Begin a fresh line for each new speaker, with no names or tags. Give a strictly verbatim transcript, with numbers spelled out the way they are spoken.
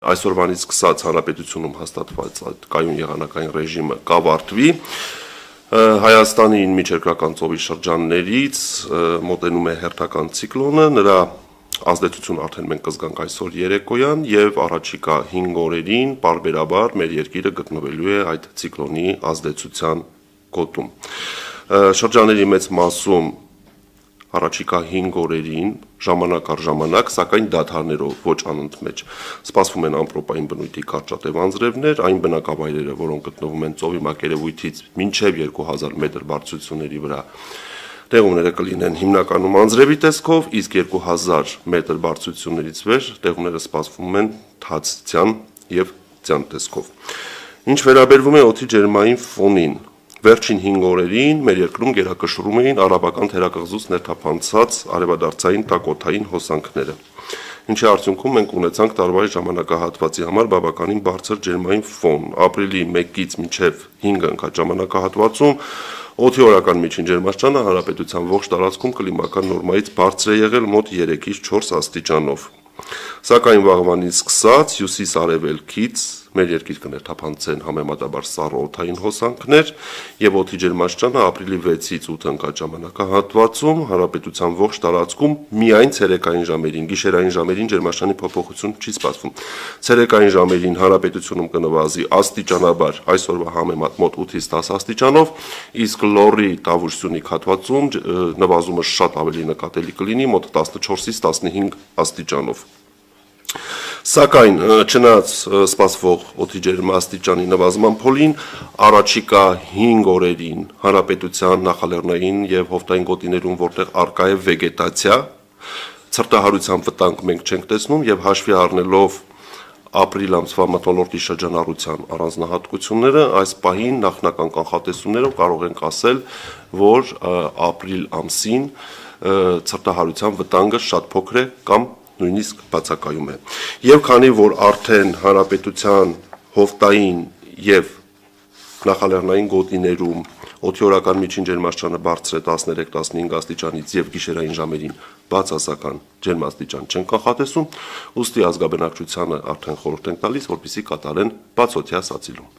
Այսօրվանից սկսած հանրապետությունում հաստատված այդ կայուն եղանակային ռեժիմը կավարտվի, Հայաստանի միջերկրական ծովի շրջաններից մոտենում է հերթական ցիկլոնը, նրա ազդեցությունը արդեն մենք կզգանք այսօր երեկոյան եւ առաջիկա հինգ օրերին պարբերաբար մեր երկիրը գտնվելու է այդ ցիկլոնի ազդեցության գոտում։ Շրջանների մեծ մասում առաջիկա հինգ օրերին ժամանակ առ ժամանակ, սակայն դադարներով ոչ անընդմեջ սպասվում են ամպրոպային բնույթի կարճատև անձրևներ, այն բնակավայրերը, որոնք գտնվում են ծովի մակերևույթից մինչև երկու հազար մետր բարձրությունների վրա, տեղումները կլինեն հիմնականում անձրևի տեսքով, իսկ երկու հազար մետր բարձրություններից վեր տեղումները սպասվում են թացության եւ ձյան տեսքով։ Ինչ վերաբերվում է օդի ջերմային ֆոնին, Վերջին հինգ օրերին մեր երկրում գերակշռում էին արաբական թերակղզուց ներթափանցած արևադարձային տակօդային հոսանքները, ինչի արդյունքում մենք ունեցանք տարվա ժամանակահատվածի համար բավականին բարձր ջերմային ֆոն։ Ապրիլի մեկից մինչև հինգը ընկած ժամանակահատվածում օդի օրական միջին ջերմաստիճանը հանրապետության ողջ տարածքում կլիմական նորմայից բարձր է եղել մոտ երեքից չորս աստիճանով։ Սակայն վաղվանից սկսած հյուսիս-արևելքից մեր երկիր կներթափանցեն համեմատաբար սառը օդային հոսանքներ եւ օդի ջերմաստիճանը ապրիլի վեցից ութ ընկած ժամանակահատվածում հանրապետության ողջ տարածքում միայն ցերեկային ժամերին, գիշերային ժամերին ջերմաստիճանի փոփոխություն չի սպասվում։ Ցերեկային ժամերին հանրապետությունում կնվազի աստիճանաբար այսօրվա համեմատ մոտ ութից տասը աստիճանով, իսկ լոռի Տավուշ-Սյունիք հատվածում նվազումը շատ ավելի նկատելի կլինի մոտ տասնչորսից տասնհինգ աստիճանով։ Սակայն չնայած սպասվող օդի ջերմաստիճանի նվազման փոլին, առաջիկա հինգ օրերին հանրապետության նախալեռնային եւ հովտային գոտիներում, որտեղ առկա է վեգետացիա, ցրտահարության վտանգ մենք չենք տեսնում եւ հաշվի առնելով ապրիլ ամսվա մթնոլորտի շրջանառության առանձնահատկությունները, այս պահին նախնական կանխատեսումներով կարող ենք ասել, որ ապրիլ ամսին ցրտահարության վտանգը շատ փոքր է կամ նույնիսկ բացակայում է։ Եվ քանի որ արդեն հանրապետության հովտային եւ նախալեռնային գոտիներում օդի օրական միջին ջերմաստիճանը բարձր է տասներեք տասնհինգ աստիճանից եւ գիշերային ժամերին բացասական ջերմաստիճան չեն կանխատեսում, ուստի ազգաբնակչությանը արդեն խորհուրդ ենք տալիս, որպեսզի կատարեն բացօդյա սացիլում։